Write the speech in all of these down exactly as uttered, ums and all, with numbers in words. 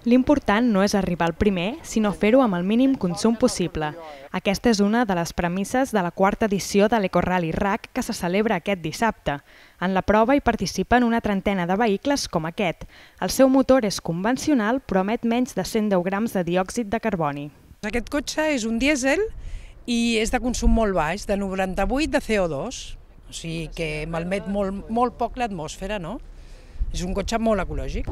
L'important no és arribar al primer, sinó fer-ho amb el mínim consum possible. Aquesta és una de les premisses de la quarta edició de l'Ecorally R A C que se celebra aquest dissabte. En la prova hi participen una trentena de vehicles com aquest. El seu motor és convencional però emet menys de cent deu grams de diòxid de carboni. Aquest cotxe és un dièsel i és de consum molt baix, de noranta-vuit de C O dos, o sigui que malmet molt, molt poc l'atmosfera, no? És un cotxe molt ecològic.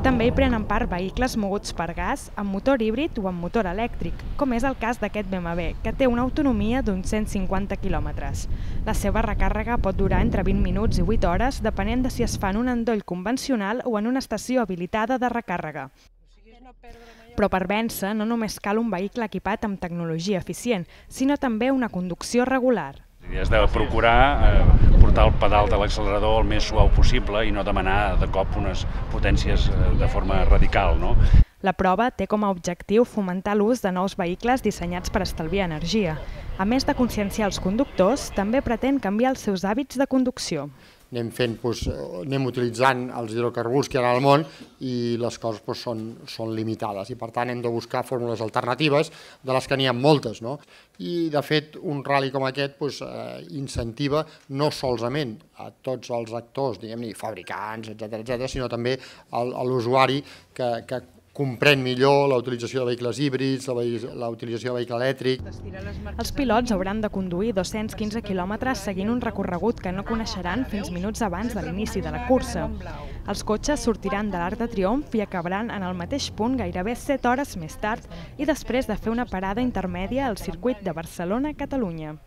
També hi prenen part vehicles moguts per gas, amb motor híbrid o amb motor elèctric, com és el cas d'aquest B M W, que té una autonomia d'uns cent cinquanta quilòmetres. La seva recàrrega pot durar entre vint minuts i vuit hores, depenent de si es fa en un endoll convencional o en una estació habilitada de recàrrega. Però per vèncer no només cal un vehicle equipat amb tecnologia eficient, sinó també una conducció regular. És de procurar portar el pedal de l'accelerador el més suau possible i no demanar de cop unes potències de forma radical, no? La prova té com a objectiu fomentar l'ús de nous vehicles dissenyats per estalviar energia. A més de conscienciar els conductors, també pretén canviar els seus hàbits de conducció. Anem fent, doncs, anem utilitzant els hidrocarburs que hi ha al món i les coses doncs, són, són limitades i per tant hem de buscar fórmules alternatives de les que n'hi ha moltes, no? I de fet un ral·li com aquest doncs, eh, incentiva no solament a tots els actors, diguem-ne, fabricants, etcètera, etcètera, sinó també a l'usuari que, que comprèn millor la utilització de vehicles híbrids, la utilització de vehicle elèctric. Els pilots hauran de conduir dos-cents quinze quilòmetres seguint un recorregut que no coneixeran fins minuts abans de l'inici de la cursa. Els cotxes sortiran de l'Arc de Triomf i acabaran en el mateix punt gairebé set hores més tard i després de fer una parada intermèdia al circuit de Barcelona-Catalunya.